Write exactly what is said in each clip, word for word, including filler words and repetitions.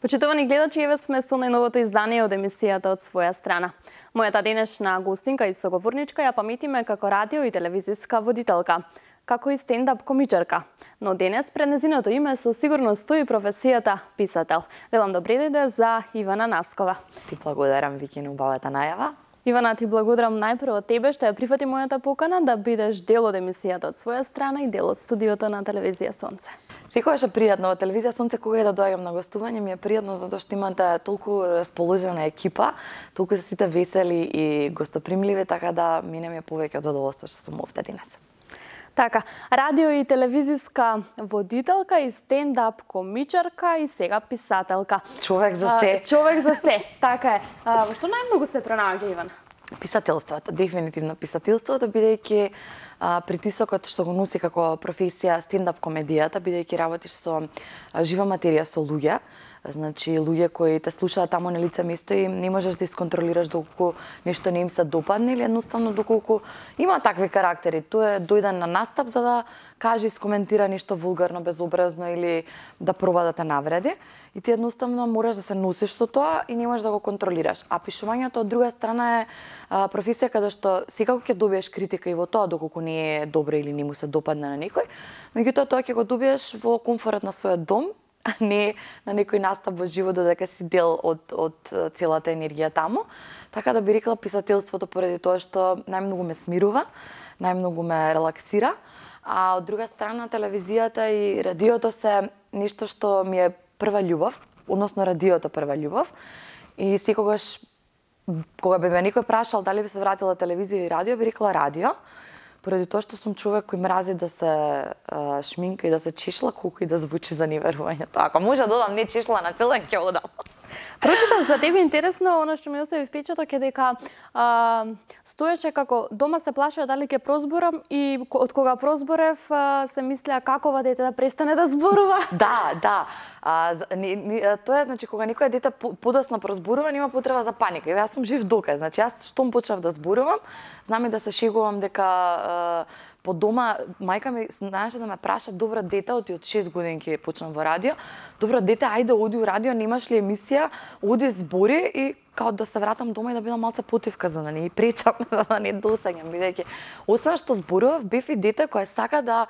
Почитувани гледачи, еве сме со најновото издание од емисијата од своја страна. Мојата денешна гостинка и соговорничка ја паметиме како радио и телевизиска водителка, како и стендап комичарка. Но денес пред нејзиното име со сигурност стои професијата писател. Велам добре дојде за Ивана Наскова. Ти благодарам, Вики, на убавата најава. Ивана, ти благодарам најпрво тебе што ја прифати мојата покана да бидеш дел од емисијата од своја страна и дел од студиото на телевизија Сонце. Секогаш е пријатно во телевизија Сонце, кога и да доаѓам на гостување, ми е пријатно затоа што имате толку расположена екипа, толку се сите весели и гостопримливи, така да мене ми е повеќе од задоволство што сум овде денес. Така, радио и телевизиска водителка и стендап комичарка и сега писателка. Човек за се. А, човек за се, така е. А, во што најмногу се пронаоѓа, Ивана? Писателството, дефинитивно писателството, бидејќи а, притисокот што го носи како професија стендап комедијата, бидејќи работиш со а, жива материја, со луѓе, значи луѓе кои те слушаат таму на лице место и не можеш да исконтролираш доколку нешто не им се допадне или едноставно доколку има такви карактери. Тој е дојден на настап за да каже и скоментира нешто вулгарно, безобразно или да проба да те навреди. И ти едноставно мораш да се носиш со тоа и не можеш да го контролираш. А пишувањето од друга страна е а, професија каде што секако ќе добиеш критика и во тоа доколку не е добро или не му се допадне на некој, меѓутоа тоа ќе го добиеш во комфорот на својот дом, а не на некој настап во живо додека си дел од, од целата енергија таму. Така да би рекла писателството поради тоа што најмногу ме смирува, најмногу ме релаксира, а од друга страна телевизијата и радиото се нешто што ми е прва љубов, односно радиото прва љубов. И секогаш кога би ме некој прашал дали би се вратила телевизија и радио, би рекла радио. Поради тоа што сум човек кој мрази да се а, шминка и да се чешла, колку и да звучи за неверувањето. Ако може да додам не чешла на цел ден, ќе одам. Прочитав за тебе интересно, она што ми остави впечаток е дека а, стоеше како дома се плашеа дали ќе прозборам и од кога прозборев а, се мислеа какова дете да престане да зборува. Да, да. А, не, не, тоа е, значи, кога некој дете подоцна прозборува, нема потреба за паника. Јас сум жив доказ. Значи, јас штом почнав да зборувам, знам и да се шегувам дека а, по дома мајка ми знаеше да ме праша добро дете, оти од шест годинки почнам во радио. Добро дете, ајде оди у радио, немаш ли емисија, оди збори и као да се вратам дома и да бидам малце потивка за да не пречам, за да не досаѓам, бидејќи освен што зборував, бев и дете кој сака да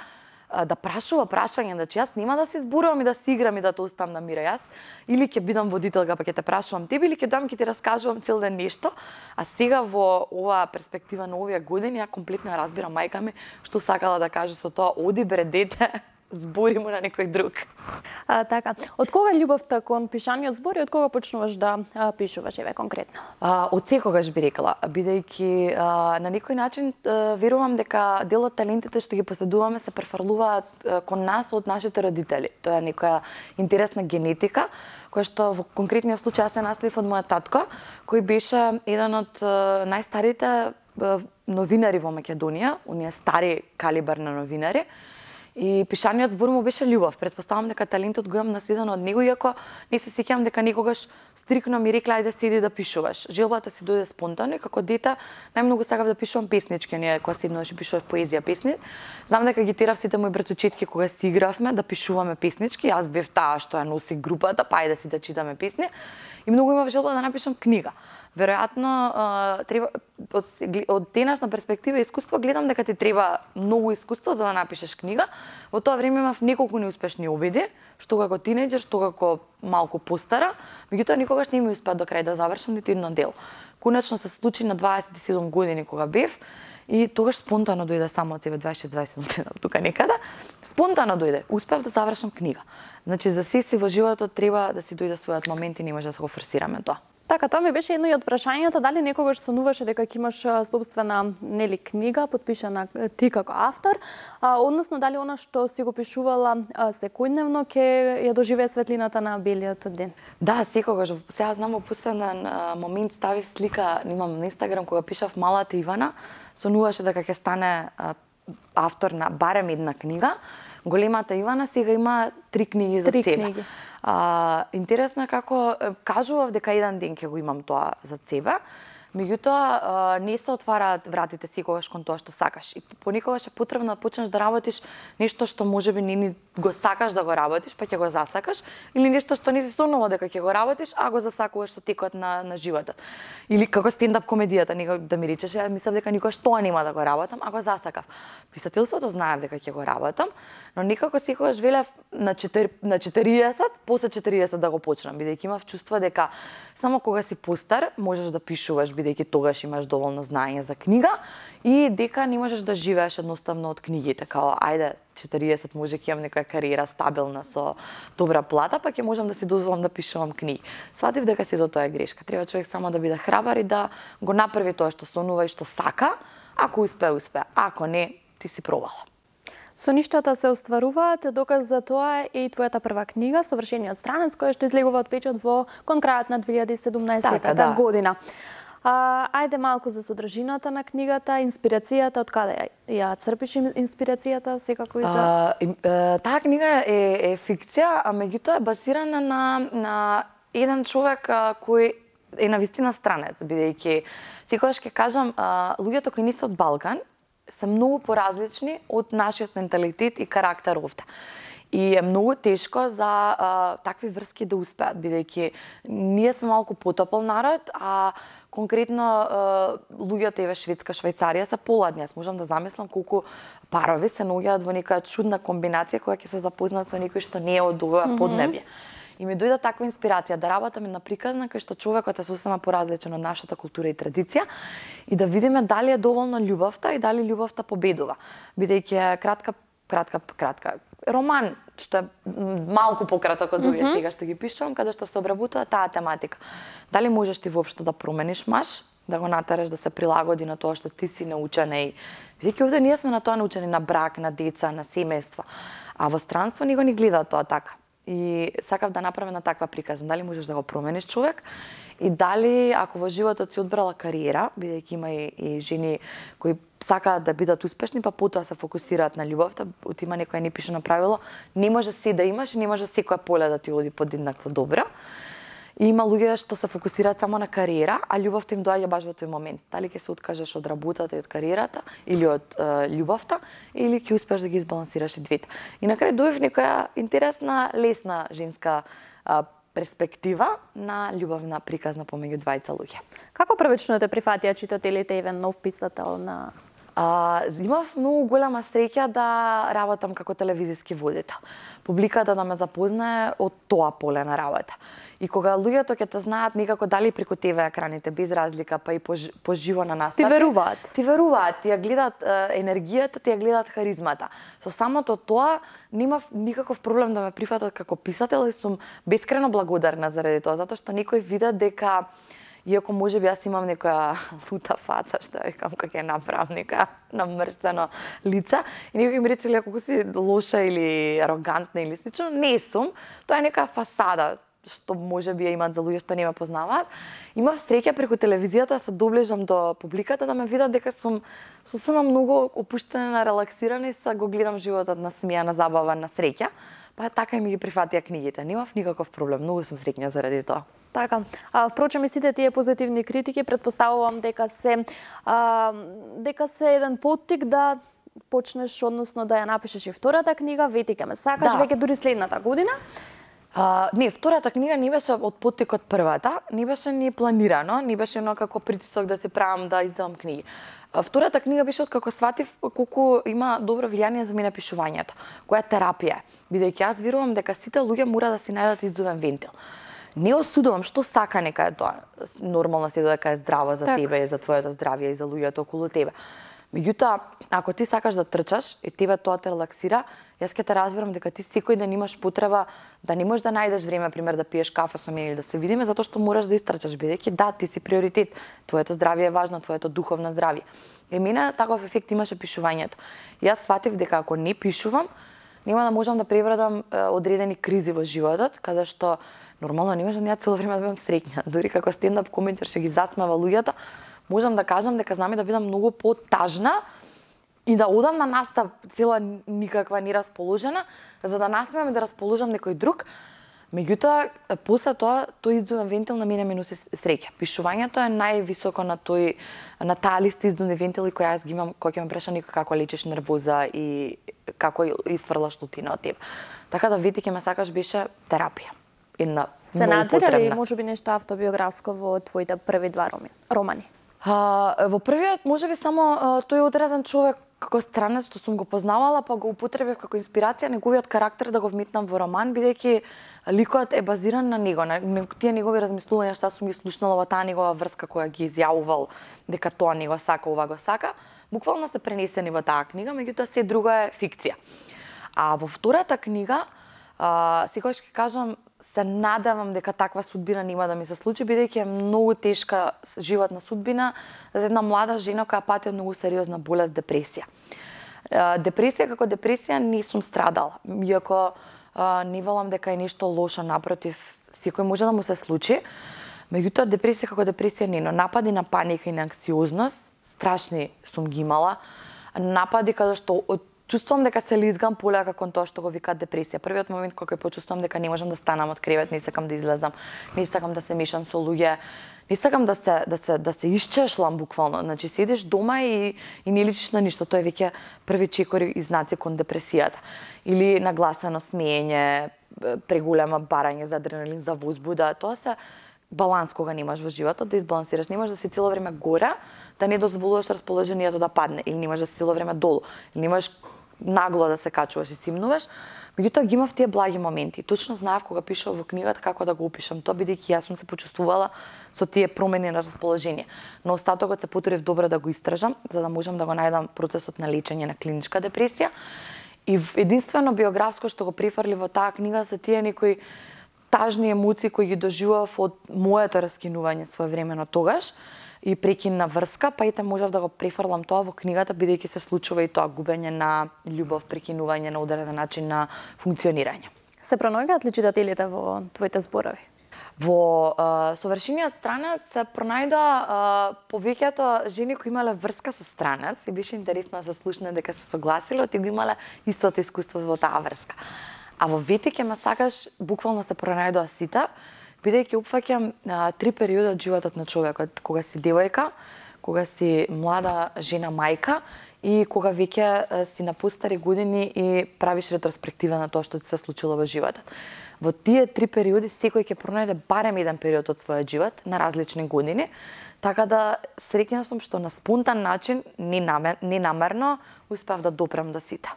да прашува прашање, значи јас нема да се зборувам и да си играм и да те оставам на мира. Јас или ќе бидам водителка па ќе те прашувам тебе или ќе доам ќе ти раскажувам цел ден нешто. А сега во оваа перспектива на овие години ја комплетно ја разбирам мајка ми што сакала да каже со тоа: оди бре дете, збори му на некој друг. А, така. Од кога љубовта кон пишаниот збори, од кога почнуваш да а, пишуваш, еве конкретно? А, од секогаш би рекла, бидејќи а, на некој начин а, верувам дека дел од талентите што ги поседуваме се префрлуваат а, кон нас од нашите родители. Тоа е некоја интересна генетика која што во конкретниот случај се наследив од мојот татко, кој беше еден од а, најстарите а, новинари во Македонија, оние стари калибар на новинари. И пишаниот збор му беше љубов. Претпоставам дека талентот го имам наследено од него, иако не се сеќавам дека никогаш стрикно ми рекла ајде седи да пишуваш. Желбата си дојде спонтано и како дете најмногу сакав да пишувам песнички, ние кога седнуваш и пишував поезија, песни. Знам дека ги терав сите мои братучетки кога си игравме да пишуваме песнички, јас бев таа што ја носи групата, па ајде си да читаме песни. И многу имав желба да напишам книга. Веројатно треба од, од денешна перспектива искуство гледам дека ти треба многу искуство за да напишеш книга. Во тоа време имав неколку неуспешни обиди, што како тинејџер, што како малку постара, меѓутоа никогаш не ми успеа до крај да завршам ниту едно дело. Конечно се случи на дваесет и седум години кога бев и тогаш спонтано дојде само од себе дваесет и шест дваесет и седум тука некаде. Спонтано дојде, успеав да завршам книга. Значи за се си во животот треба да си дојде својот момент и не може да се го форсираме тоа. Така, тоа ми беше едно и од прашањата, дали некогаш сонуваше дека ќе имаш собствена нели книга подпишана ти како автор, а, односно дали она што си го пишувала секојдневно ќе ја доживее светлината на белиот ден? Да, секогаш. Сега знам во последен момент ставив слика, имам на Инстаграм кога пишав малата Ивана, сонуваше дека ќе стане а, автор на барем една книга. Големата Ивана сега има три книги за три себе. Книги. А, интересно е како кажував дека еден ден ќе го имам тоа за себе, Меѓутоа, не се отвараат вратите секогаш кон тоа што сакаш. И понекогаш е потребно да почнеш да работиш нешто што можеби не ни го сакаш да го работиш, па ќе го засакаш, или нешто што не си сонува дека ќе го работиш, а го засакуваш со текот на, на животот. Или како стендап комедијата, некој да ми речеш, ја мислев дека никогаш тоа нема да го работам, а го засакав. Писателството знаев дека ќе го работам, но некако секогаш велев на на четириесет, после четириесет да го почнам, бидејќи имав чувство дека само кога си постар можеш да пишуваш, бидејќи тогаш имаш доволно знаење за книга и дека не можеш да живееш едноставно од книгите, као ајде четириесет може ќе имам некоја кариера стабилна со добра плата, па ќе можам да си дозволам да пишувам книги. Сватив дека сето тоа е грешка. Треба човек само да биде храбар и да го направи тоа што сонува и што сака. Ако успее, успее. Ако не, ти си пробала. Соништата се остваруваат, доказ за тоа е и твојата прва книга Совршениот странец, која што излегува од печат во кон крајот на две илјади и седумнаесетта така, да. година. А, ајде малку за содржината на книгата, инспирацијата, од каде ја, ја црпиш инспирацијата, секако и за... А, таа книга е, е фикција, а меѓутоа е базирана на, на еден човек а, кој е навистина странец, бидејќи секогаш ќе кажам, а, луѓето кои не се од Балкан се многу поразлични од нашиот менталитет и карактер овде. И е многу тешко за а, такви врски да успеат, бидејќи ние сме малку потопол народ, а конкретно а, луѓето еве Шведска, Швајцарија се поладни. Јас можам да замислам колку парови се наоѓаат во некоја чудна комбинација која ќе се запознаат со некој што не е од ова mm-hmm. поднебје. И ми дојде таква инспирација да работаме на приказна кај што човекот е сосема поразличен од нашата култура и традиција и да видиме дали е доволно љубовта и дали љубовта победува. Бидејќи е кратка, кратка, кратка роман, што е малку пократок од другите mm-hmm. сега што ги пишувам, каде што се обработува таа тематика. Дали можеш ти воопшто да промениш маж, да го натераш да се прилагоди на тоа што ти си научена и бидејќи овде ние сме на тоа научени, на брак, на деца, на семејство. А во странство него не гледа тоа така. И сакав да направам на таква приказна. Дали можеш да го промениш човек и дали ако во животот си одбрала кариера, бидејќи има и, и жени кои сакаат да бидат успешни, па потоа се фокусираат на љубовта, од има некоја непишано правило, не може се да имаш и не може секоја поле да ти оди подеднакво добро. И има луѓе што се фокусираат само на кариера, а љубовта им доаѓа баш во тој момент. Дали ќе се откажеш од работата и од кариерата, или од е, љубовта, или ќе успееш да ги избалансираш и двете. И на крај дојдов некоја интересна, лесна женска е, перспектива на љубовна приказна помеѓу двајца луѓе. Како првично те прифатија читателите еден нов писател на... А, имав многу голема среќа да работам како телевизиски водител. Публиката да ме запознае од тоа поле на работа. И кога луѓето ќе те знаат некако дали преку те ве екраните без разлика, па и поживо на настапи. Ти веруваат. Ти веруваат, ти ја гледаат е, енергијата, ти ја гледаат харизмата. Со самото тоа немав никаков проблем да ме прифатат како писател и сум бескрено благодарна заради тоа, затоа што некој види дека иако можеби јас имам некоја лута фаца, што викам како ќе направам некоја намрштено лице, и некој ми рече колку си лоша или арогантна или слично, не сум, тоа е некоја фасада што можеби ја имаат за луѓе што не ме познаваат. Имав среќа преку телевизијата да се доближам до публиката, да ме видат дека сум сосема многу опуштена, релаксирана и се го гледам животот на смеа, на забава, на среќа. Па така и ми ги прифатија книгите. Немав никаков проблем, многу сум среќна заради тоа. Така. А, впрочем и сите тие позитивни критики претпоставувам дека се а, дека се еден поттик да почнеш, односно да ја напишеш и втората книга, вети ке ме сакаш, да. Веќе дури следната година. А, не, втората книга не беше од поттик од првата, не беше ни планирано, не беше едно како притисок да се правам да издавам книги. А, втората книга беше откако сватив колку има добро влијание за мене пишувањето, која е терапија, бидејќи јас верувам дека сите луѓе мора да си најдат издувен вентил. Не осудувам што сака нека е тоа. Нормално си дека е здраво за так. тебе и за твоето здравје и за луѓето околу тебе. Меѓутоа, ако ти сакаш да трчаш и тебе тоа те релаксира, јас ќе те разберам дека ти секој ден имаш потреба да не можеш да најдеш време, пример, да пиеш кафе со мене или да се видиме, затоа што мораш да истрчаш, бидејќи да, ти си приоритет. Твоето здравје е важно, твоето духовно здравје. И мене таков ефект имаше пишувањето. Јас сватив дека ако не пишувам, нема да можам да пребрадам е, одредени кризи во животот, каде што нормално не можам ја цело време да бидам среќна. Дури како стендап комедијар што ги засмева луѓето, можам да кажам дека знам и да бидам многу потажна и да одам на настап цела никаква не расположена, за да насмеам и да расположам некој друг, Меѓутоа, после тоа, тој издувен вентил на мене ми носи среќа. Пишувањето е највисоко на тој на таа листа издувни вентили која јас ги имам, кој ќе ме преша никој како лечиш нервоза и како изфрлаш лутина од тебе. Така да ветике ме сакаш беше терапија. Една се надзира ли можеби нешто автобиографско во твоите први два романи? А, во првиот можеби само а, тој одреден човек како странец што сум го познавала, па го употребив како инспирација неговиот карактер да го вметнам во роман, бидејќи ликот е базиран на него, на тие негови размислувања што сум ги слушнала во таа негова врска која ги изјавувал дека тоа него сака, ова го сака, буквално се пренесени во таа книга, меѓутоа се друго е фикција. А во втората книга, а, секогаш ќе кажам, се надевам дека таква судбина нема да ми се случи, бидејќи е многу тешка животна судбина за една млада жена која пати од многу сериозна болест, депресија. Депресија како депресија не сум страдала, иако не велам дека е нешто лошо, напротив, секој може да му се случи. Меѓутоа, депресија како депресија не, но напади на паника и на анксиозност, страшни сум ги имала. Напади каде што чувствувам дека се лизгам полека кон тоа што го викаат депресија. Првиот момент кога почувствувам дека не можам да станам од кревет, не сакам да излезам, не сакам да се мешам со луѓе, не сакам да се да се да се исчешлам буквално. Значи седиш дома и и не личиш на ништо, тоа е веќе први чекори и знаци кон депресијата. Или нагласено смеење, преголема барање за адреналин, за возбуда, тоа се баланс кога немаш во животот, да избалансираш, немаш да си цело време горе, да не дозволуваш расположението да падне, или немаш да си цело време долу, или немаш нагло да се качуваш и симнуваш. Меѓутоа ги имав тие благи моменти. Точно знаев кога пишав во книгата како да го опишам тоа, бидејќи јас сум се почувствувала со тие промени на расположение. Но остатокот се потрудив добро да го истражам, за да можам да го најдам процесот на лечење на клиничка депресија. И единствено биографско што го префрли во таа книга се тие некои тажни емоции кои ги доживував од моето раскинување своевремено тогаш и прекинна врска, па ете можев да го префрлам тоа во книгата, бидејќи се случува и тоа губење на љубов, прекинување на одреден начин на функционирање. Се пронаоѓаат ли читателите во твоите зборови? Во а, Совршениот странец се пронајдоа повеќето жени кои имале врска со странец и беше интересно да се слушне дека се согласиле и го имале истото искуство во таа врска. А во Ветике ме сакаш буквално се пронајдоа сите, бидејќи опфаќам три периоди од животот на човекот, кога си девојка, кога си млада жена мајка и кога веќе си на постари години и правиш ретроспектива на тоа што ти се случило во животот. Во тие три периоди секој ќе пронајде барем еден период од својот живот на различни години, така да среќна сум што на спонтан начин, ненамерно, успеав да допрем до сите.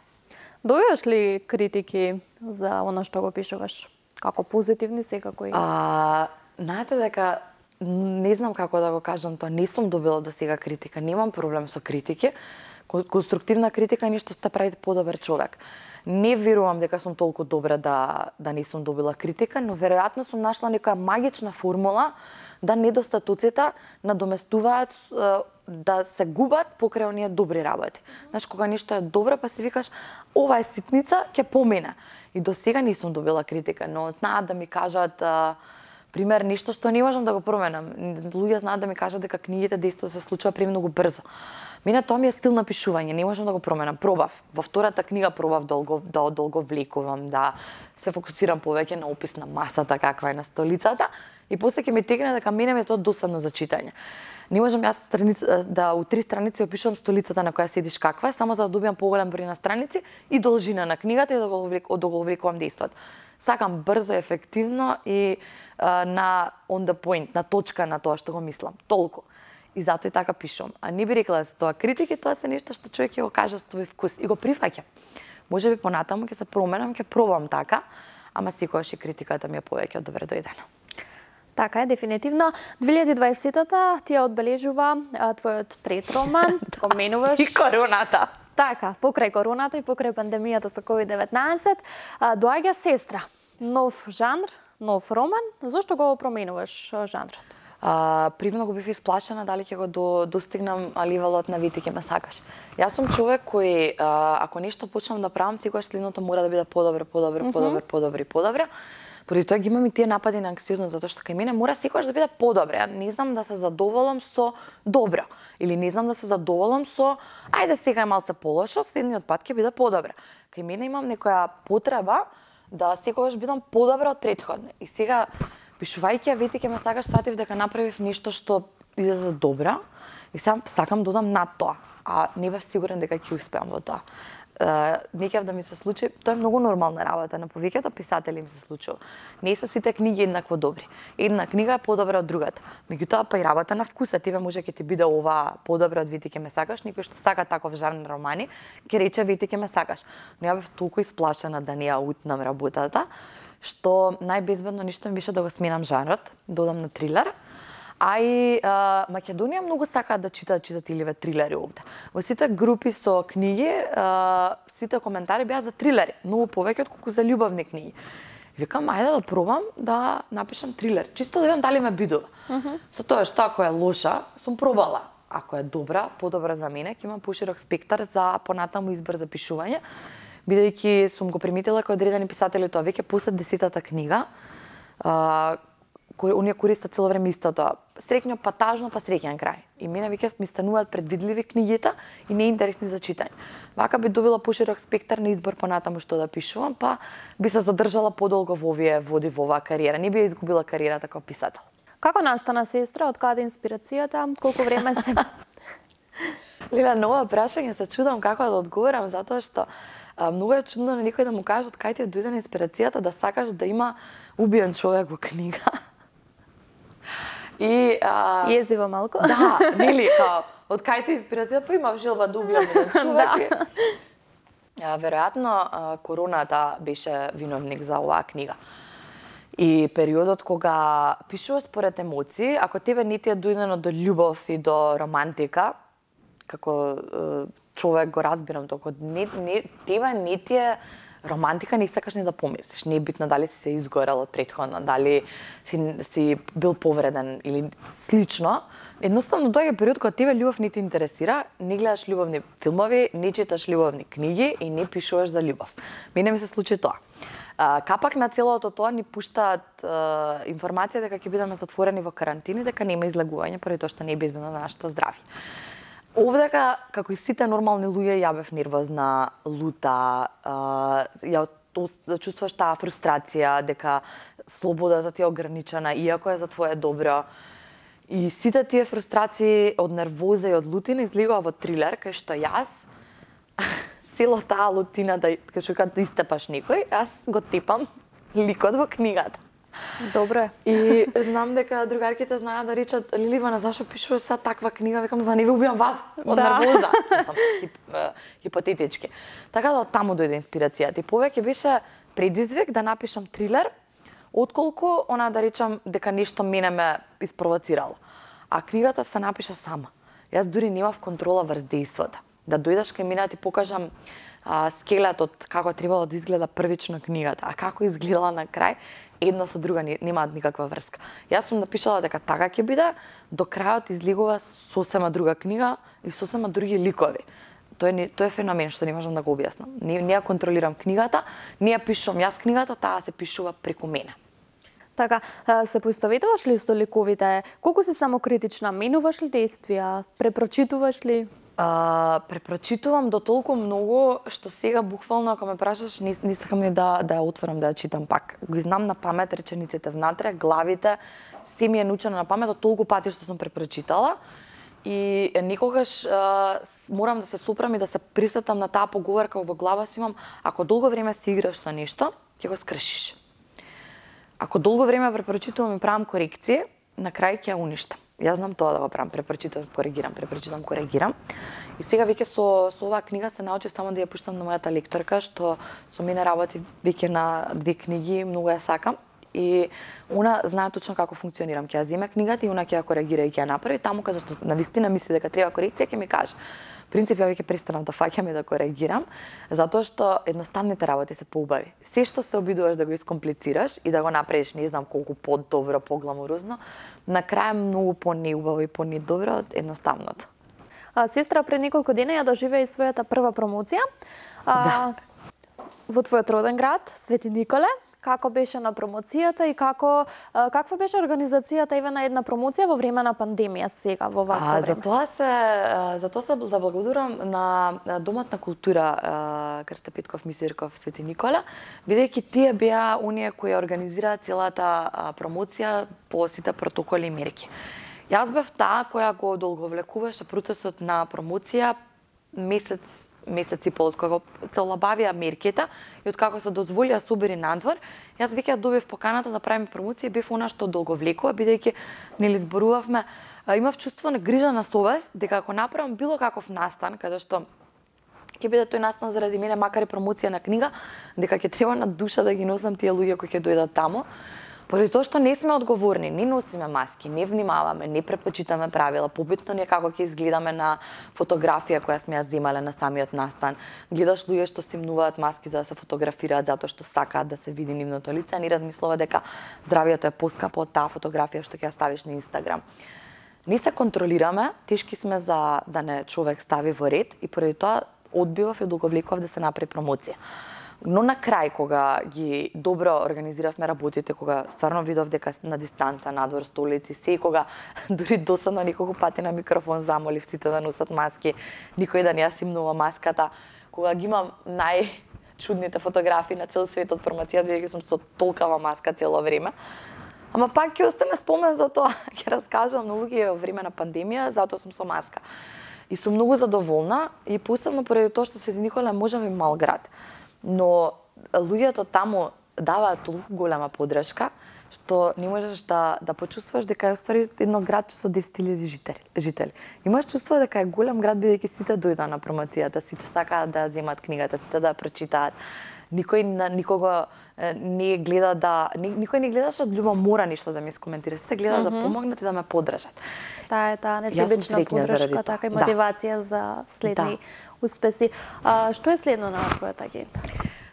Добиваш ли критики за она што го пишуваш? Како позитивни, секако и... А, знаете дека, не знам како да го кажам тоа, не сум добила до сега критика, немам проблем со критики. Конструктивна критика е нешто што прави подобар човек. Не верувам дека сум толку добра да, да не сум добила критика, но веројатно сум нашла некоја магична формула да недостатоците надоместуваат, да се губат покрај оние добри работи. Знаеш, кога нешто е добро, па си викаш, ова е ситница, ќе помине. И до сега не сум добила критика, но знаат да ми кажат, а, пример, нешто што не можам да го променам. Луѓе знаат да ми кажат дека книгите действително се случува премногу брзо. Мене тоа ми е стил на пишување, не можам да го променам. Пробав. Во втората книга пробав долго, да долго влекувам, да се фокусирам повеќе на опис на масата каква е на столицата и после ќе ми текне дека мене ми е тоа досадно за читање. Не можам јас страница, да у три страници опишувам столицата на која седиш каква е, само за да добиам поголем број на страници и должина на книгата и да го да го влекувам действото. Сакам брзо, ефективно и а, на on the point, на точка на тоа што го мислам. Толку. И затоа и така пишувам. А не би рекла за тоа критики, тоа се нешто што човек ќе го каже со тој вкус и го прифаќам. Можеби понатаму ќе се променам, ќе пробам така, ама секогаш и критиката ми е повеќе од добре дојдена. Така е, дефинитивно. две илјади и дваесетта ти ја одбележува а, твојот трет роман, поменуваш... И короната. Така, покрај короната и покрај пандемијата со ковид деветнаесет, а, доаѓа Сестра. Нов жанр, нов роман. Зошто го променуваш жанрот? А, премногу бив исплашена дали ќе го до, достигнам ливелот на Ветике ме сакаш. Јас сум човек кој, а, ако нешто почнам да правам, секогаш следното мора да биде подобро, подобро, mm -hmm. подобро, подобро и подобро. Поради тоа ги имам и тие напади на анксиозност, затоа што кај мене мора секогаш да биде подобро. Не знам да се задоволам со добро. Или не знам да се задоволам со ајде сега е малце полошо, следниот пат ќе биде подобро. Кај мене имам некоја потреба да секогаш бидам подобра од претходно. И сега, пишувајќи ја вети ке ме сакаш, сватив дека направив нешто што излезе добра и сега сакам да одам над тоа, а не бев сигурен дека ќе успеам во тоа. Uh, не кев да ми се случи, тоа е многу нормална работа, на повеќето писатели им се случува. Не се сите книги еднакво добри. Една книга е подобра од другата. Меѓутоа па и работа на вкуса, тебе може ќе ти биде ова подобра од Вети ке ме сакаш, никој што сака таков жанр романи, ќе рече Вети ке ме сакаш. Но ја бев толку исплашена да не ја утнам работата, што најбезбедно нешто ми беше да го сменам жанрот, да одам на трилер. А и а, Македонија многу сакаат да читаат читателиве трилери овде. Во сите групи со книги, а, сите коментари беа за трилери, многу повеќе отколку за љубовни книги. Викам, ајде да пробам да напишам трилер, чисто да видам дали ме бидува. Uh -huh. Со тоа што ако е лоша, сум пробала. Ако е добра, подобра за мене, ќе имам поширок спектар за понатаму избор за пишување, бидејќи сум го приметила кај одредени писатели тоа веќе после десетата книга, а, оние користат цело време истото. Среќно па тажно па среќен крај. И мене веќе ми стануваат предвидливи книгите и неинтересни за читање. Вака би добила поширок спектар на избор понатаму што да пишувам, па би се задржала подолго во овие води во оваа кариера. Не би ја изгубила кариерата како писател. Како настана, сестра, од каде инспирацијата, колку време се... Лила, на ова прашање се чудам како да одговорам, затоа што а, многу е чудно на никој да му каже од кај ти дојде инспирацијата да сакаш да има убиен човек во книга. И а... Језиво малку. Да, нели, као, од кај ти инспирација, па имав желба да убијам еден човек. Да. А, веројатно, а, короната беше виновник за оваа книга. И периодот кога пишуваш според емоции, ако тебе не ти е дојдено до љубов и до романтика, како е, човек го разбирам тоа, не, не, тебе не ти е романтика, не сакаш ни да помислиш. Не е битно дали си се изгорел од претходно, дали си, си бил повреден или слично. Едноставно доаѓа период кога тебе љубов не те интересира, не гледаш љубовни филмови, не читаш љубовни книги и не пишуваш за љубов. Мене ми се случи тоа. Капак на целото тоа ни пуштаат информација дека ќе бидеме затворени во карантини, дека нема излегување, поради тоа што не е безбедно за нашето здравје. Овдека, како и сите нормални луѓе, ја бев нервозна, лута, ја чувствуваш таа фрустрација, дека слободата ти е ограничена, иако е за твое добро. И сите тие фрустрации од нервоза и од лутина излегува во трилер, кај што јас, цело таа лутина, да, кај што да истепаш некој, јас го тепам ликот во книгата. Добре. И знам дека другарките знаат да речат, Ливана, зашо пишуваш сега таква книга? Викам, за не ви убијам вас од да. Нервоза. Сам хип, хипотетички. Така да од таму дојде инспирацијата. И повеќе беше предизвик да напишам трилер, отколку она да речам дека нешто мене ме испровоцирало. А книгата се напиша сама. Јас дури немав контрола врз дејството. Да дојдеш кај мене да ти покажам а, скелетот како требало да изгледа првично книгата, а како изгледала на крај, едно со друга немаат никаква врска. Јас сум напишала дека така ќе биде, до крајот излегува сосема друга книга и сосема други ликови. Тоа е, тоа е феномен што не можам да го објаснам. Не, не ја контролирам книгата, не ја пишувам јас книгата, таа се пишува преку мене. Така, се поистоветуваш ли со ликовите? Колку си самокритична? Менуваш ли действија? Препрочитуваш ли? Uh, препрочитувам до толку многу што сега буквално ако ме прашаш не, не сакам ни да да ја отворам да ја читам пак. Го знам на памет речениците внатре, главите, се ми е научено на памет од толку пати што сум препрочитала и некогаш uh, морам да се сопрам и да се присетам на таа поговорка во глава си имам, ако долго време си играш со нешто, ќе го скршиш. Ако долго време препрочитувам и правам корекции, на крај ќе ја уништам. Јас знам тоа да го правам, препрочитувам, коригирам, препрочитувам, коригирам. И сега веќе со со оваа книга се научив само да ја пуштам на мојата лекторка, што со мене работи веќе на две книги, многу ја сакам. И она знае точно како функционирам. Ќе ја земе книгата и она ќе ја коригира и ќе ја направи таму каде што навистина мисли дека треба корекција, ќе ми каже. Принцип, ја веќе престанав да фаќам и да коригирам, затоа што едноставните работи се поубави. Се што се обидуваш да го искомплицираш и да го направиш не знам колку подобро, погламурозно, на крај многу понеубаво и понедобро од едноставното. А, сестра, пред неколку дена ја доживеа и својата прва промоција. А, да. Во твојот роден град, Свети Николе, како беше на промоцијата и како каква беше организацијата еве на една промоција во време на пандемија сега во вакво време? За тоа се за тоа се заблагодарувам на Домот на култура Крста Петков Мисирков Свети Никола, бидејќи тие беа оние кои организираа целата промоција по сите протоколи и мерки. Јас бев таа која го долговлекуваше процесот на промоција месец, месец и пол, од кога се олабавија мерките и од како се дозволи да се убери надвор. Јас веќе добив поканата да правиме промоција и бев она што долговлекува, бидејќи нели зборувавме, имав чувство на грижа на совест дека ако направам било каков настан, каде што ќе биде тој настан заради мене, макар и промоција на книга, дека ќе треба на душа да ги носам тие луѓе кои ќе дојдат таму. Поради тоа што не сме одговорни, не носиме маски, не внимаваме, не препочитаме правила, побитно не како ќе изгледаме на фотографија која сме ја земале на самиот настан. Гледаш луѓе што си мнуваат маски за да се фотографираат затоа што сакаат да се види нивното лице, не размислува дека здравието е поскапо од таа фотографија што ќе ја ставиш на Инстаграм. Не се контролираме, тешки сме за да не човек стави во ред и поради тоа одбивав и долговлекував да се направи промоција. Но на крај, кога ги добро организиравме работите, кога стварно видов дека на дистанца, надвор, столици, се, кога дури досадно неколку пати на микрофон замолив сите да носат маски, никој да не ја симнува маската, кога ги имам најчудните фотографии на цел свет од промоција, бидејќи сум со толкава маска цело време. Ама пак ќе остане спомен за тоа, ќе раскажам на луѓе во време на пандемија, затоа сум со маска. И сум многу задоволна и посебно поради тоа што Свети Никола е можеби мал град. Но луѓето таму даваат толку голема поддршка што не можеш да да почувствуваш дека е ствари едно градче со десет илјади жители. жители. Имаш чувство дека е голем град бидејќи сите дојдоа на промоцијата, сите сакаат да земат книгата, сите да ја прочитаат. Никој на никого не гледа да никој не гледаше од љубомора ништо да ми скоментира, сите гледаат mm -hmm. да помогнат и да ме поддржат. Таа е таа несебична поддршка, така и мотивација да. за следни да. успеси. А, што е следно на твојата агенда?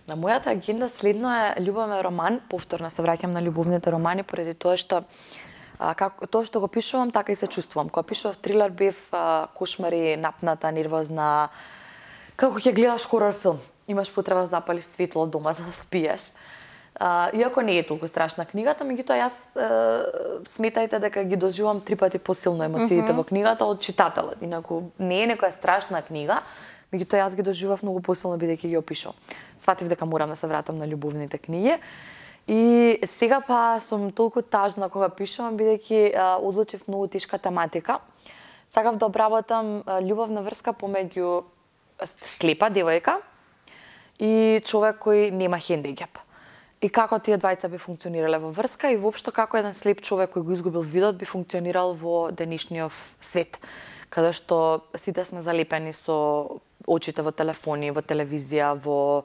На мојата агенда следно е љубовен роман, повторно се враќам на љубовните романи поради тоа што а, како тоа што го пишувам, така и се чувствувам. Кога пишував трилер бев а, кошмари, напната, нервозна, како ќе гледаш хорор филм. Имаш потреба да запалиш светло дома за да спиеш. А, иако не е толку страшна книгата, меѓутоа јас е, сметајте дека ги доживувам три пати посилно емоциите mm -hmm. во книгата од читателот. Инаку не е некоја страшна книга, меѓутоа јас ги доживував многу посилно бидејќи ги опишувам. Сватив дека морам да се вратам на љубовните книги. И сега па сум толку тажна кога пишувам бидејќи одлучив многу тешка тематика. Сакав да обработам љубовна врска помеѓу слепа девојка и човек кој нема хендикеп. И како тие двајца би функционирале во врска и воопшто како еден слеп човек кој го изгубил видот би функционирал во денешниот свет, каде што сите сме залепени со очите во телефони, во телевизија, во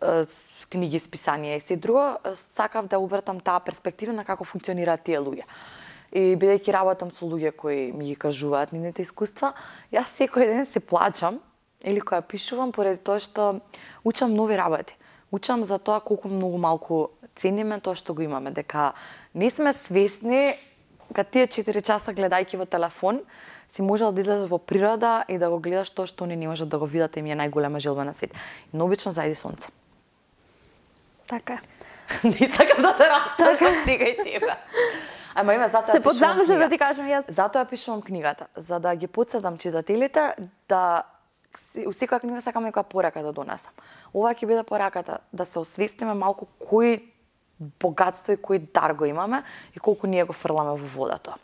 е, книги, списанија и се друго. Сакав да обратам таа перспектива на како функционираат тие луѓе. И бидејќи работам со луѓе кои ми ги кажуваат нивните искуства, јас секој ден се плачам или кога пишувам поради тоа што учам нови работи. Учам за тоа колку многу малку цениме тоа што го имаме, дека не сме свесни кога тие четири часа гледајќи во телефон си можел да излезеш во природа и да го гледаш тоа што они не можат да го видат и ми е најголема желба на свет. И обично зајди сонце. Така. Не сакам да те растажам сега и тебе. Ама има затоа се подзамислив да ти кажам јас. Затоа пишувам книгата, за да ги потсетам читателите да у секоја книга сакам некоја порака да донесам. Ова ќе биде пораката да се освестиме малку кој богатство и кој дар го имаме и колку ние го фрламе во водата.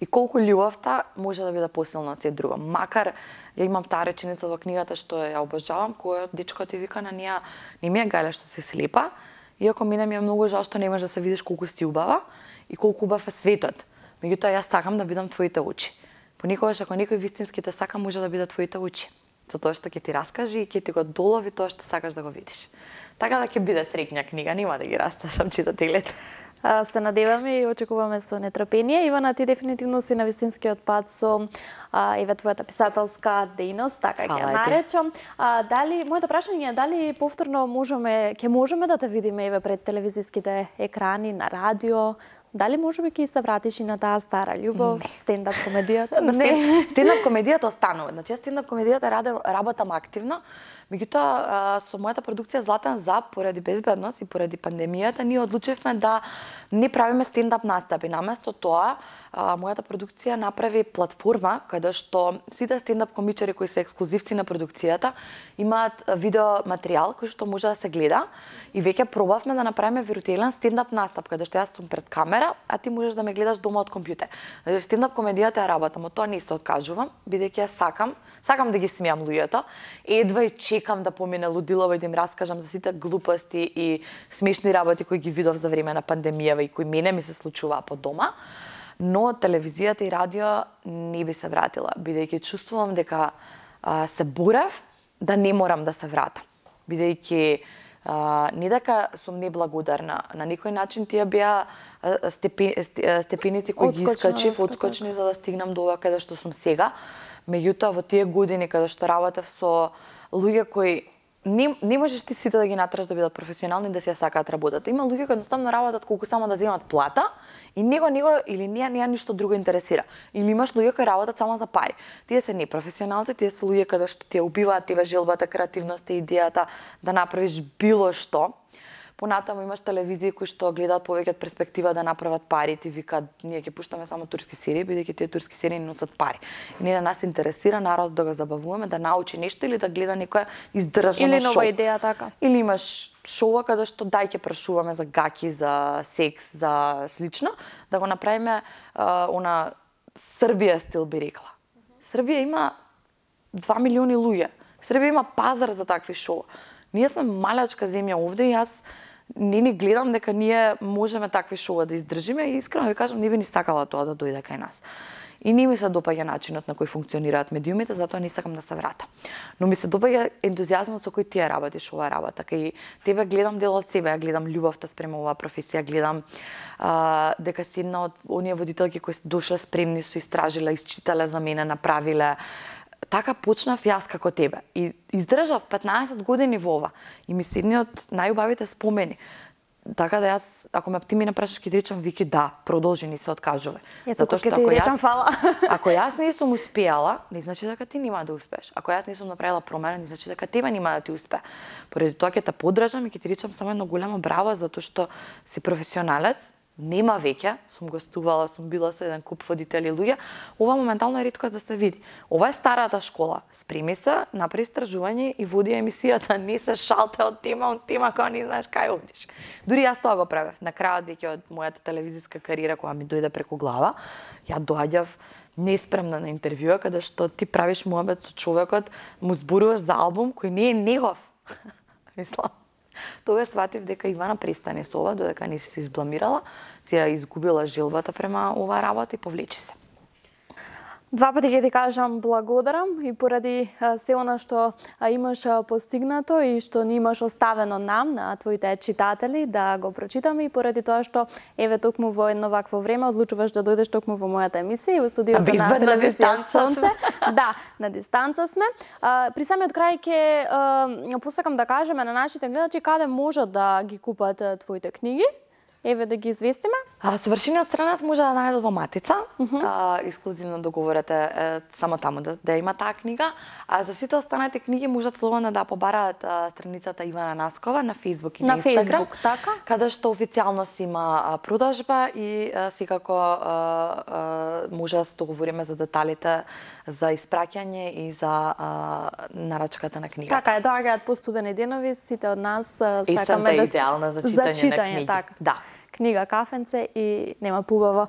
И колку љубовта може да биде посилна од се друго. Макар ја имам таа реченица во книгата што ја обожавам, која дечко ти вика на неа, не ми е гајле што си слепа, иако мене ми е многу жал што не можеш да се видиш колку си убава и колку убав е светот. Меѓутоа јас сакам да бидам твоите очи. Понекогаш ако некој вистински те сака, може да биде твоите очи. Со тоа што ќе ти раскажи и ќе ти го долови тоа што сакаш да го видиш. Така да ќе биде среќна книга, нема да ги расташам читателите. Се надеваме и очекуваме со нетрпение. Ивана, ти дефинитивно си на вистинскиот пат со а, еве твојата писателска дејност, така ќе ја наречам. А, дали моето прашање е дали повторно можеме ќе можеме да те видиме еве пред телевизиските екрани, на радио, Дали можеби ќе се вратиш и на таа стара љубов, стендап комедијата? Не. Стендап комедијата останува. Значи, стендап комедијата работам активно, меѓутоа со мојата продукција Златен зап, поради безбедност и поради пандемијата, ние одлучивме да не правиме стендап настапи. Наместо тоа, мојата продукција направи платформа каде што сите стендап комичари кои се ексклузивци на продукцијата имаат видео материјал кој што може да се гледа и веќе пробавме да направиме виртуелен стендап настап каде што јас сум пред камера, а ти можеш да ме гледаш дома од компјутер. Значи стендап комедијата ја работам, од тоа не се откажувам, бидејќи ја сакам, сакам да ги смеам луѓето. Едва и чекам да помине лудилово и да им раскажам за сите глупости и смешни работи кои ги видов за време на пандемијава и кои мене ми се случуваа по дома. Но телевизијата и радио не би се вратила, бидејќи чувствувам дека а, се борев да не морам да се вратам. Бидејќи а, не дека сум неблагодарна, на некој начин тие беа степен, степеници кои ги искачив, одскочни за да стигнам до ова каде што сум сега. Меѓутоа во тие години каде што работев со луѓе кои Не, не можеш ти сите да ги натраш да бидат професионални и да си ја сакаат работата. Има луѓе кои едноставно работат колку само да земат плата и него него или неа неа ништо друго интересира. Или имаш луѓе кои работат само за пари. Тие се непрофесионалци, тие се луѓе каде што ти убиваат тебе желбата, креативноста, идејата да направиш било што. Понатаму имаш телевизии кои што гледаат повеќе од перспектива да направат пари, ти викаат ние ќе пуштаме само турски серии, бидејќи тие турски серии не носат пари. И не на нас интересира народ да го забавуваме, да научи нешто или да гледа некоја издржано шоу. Или нова идеја така. Или имаш шоу каде што дај ќе прашуваме за гаки, за секс, за слично, да го направиме а, она Србија стил би рекла. Србија има два милиони луѓе. Србија има пазар за такви шоу. Ние сме малечка земја овде и јас не ни гледам дека ние можеме такви шоуа да издржиме и искрено ви кажам не би ни сакала тоа да дојде кај нас. И не ми се допаѓа начинот на кој функционираат медиумите, затоа не сакам да се вратам. Но ми се допаѓа ентузијазмот со кој ти ја работиш оваа работа. Кај тебе гледам дел од себе, ја гледам љубовта спрема оваа професија, гледам а, дека си една од оние водителки кои дошле спремни, со истражиле, isчитале за мене, направиле. Така почнав јас како тебе и издржав петнаесет години во ова и ми се едни од најубавите спомени. Така да јас, ако ме ти ми напрашаш, ќе ти речам Вики, да, продолжи, не се откажувај. Ето како ќе ти речам фала. Ако јас не сум успеала, не значи дека ти нема да успееш. Ако јас не сум направила промена, не значи дека тебе нема да ти успее. Поради тоа ќе те поддржам и ќе ти речам само едно голямо браво затоа што си професионалец. Нема веќе, сум гостувала, сум била со еден куп водители луѓе, ова моментално е риткост да се види. Ова е старата школа. Спреми се, направи истражување и води емисијата, не се шалте од тема од тема кога не знаеш кај одиш. Дури јас тоа го правев. На крајот веќе од мојата телевизиска кариера кога ми дојде преку глава, ја доаѓав неспремна на интервјуа каде што ти правиш муабет со човекот, му зборуваш за албум кој не е негов. Мислам. Тогаш сватив дека Ивана престане со ова, додека не си се избламирала, си ја изгубила желбата према оваа работа и повлечи се. Два пати ќе ти кажам благодарам и поради се она што имаш постигнато и што ни имаш оставено нам, на твоите читатели, да го прочитаме и поради тоа што еве токму во едно вакво време одлучуваш да дојдеш токму во мојата емисија и во студиото на телевизија Сонце. Да, на дистанца сме. При самиот крај ќе посакам да кажеме на нашите гледачи каде можат да ги купат твоите книги. Еве да ги известиме. А, совршениот странец може да најдат во Матица. Uh -huh. а, ексклузивно договорете е, само таму да, да има таа книга. А за сите останати книги можат слободно да побараат а, страницата Ивана Наскова на Facebook и на, на Instagram. Facebook, така? Каде што официјално си има а, продажба и а, секако а, а, може да се договориме за деталите за испраќање и за а, нарачката на книга. Така е, доаѓаат по студени денови, сите од нас а, сакаме да идеална за читање, за читање на книги. Така. Да. Книга, кафенце и нема пубаво.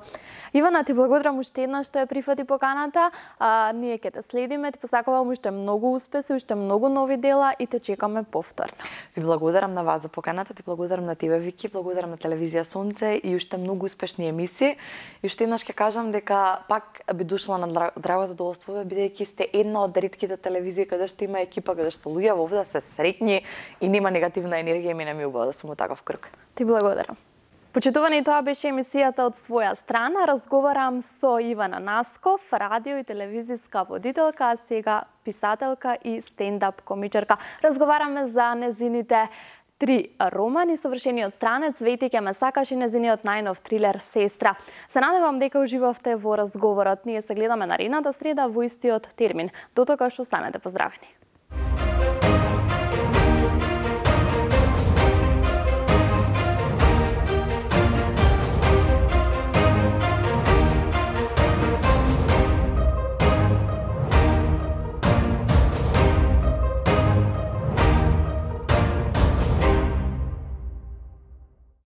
Ивана, ти благодарам уште еднаш што ја прифати поканата. А, ние ќе те следиме, ти посакувам уште многу успеси, уште многу нови дела и те чекаме повторно. Ви благодарам на вас за поканата, ти благодарам на тебе, Вики, благодарам на телевизија Сонце и уште многу успешни емисии. И уште еднаш ќе кажам дека пак би дошла на драго задоволство, бидејќи сте една од ретките телевизии каде што има екипа, каде што луѓе во овде се среќни и нема негативна енергија и мене ми убаво да сум во таков круг. Ти благодарам. Почитувани, тоа беше емисијата од своја страна. Разговарам со Ивана Насков, радио и телевизиска водителка, а сега писателка и стендап комичарка. Разговараме за незините Три романи совршениот странец Вети ќе ме сакаш и незиниот најнов трилер Сестра. Се надевам дека уживавте во разговорот. Ние се гледаме наредната среда во истиот термин. До тогаш останете поздравени.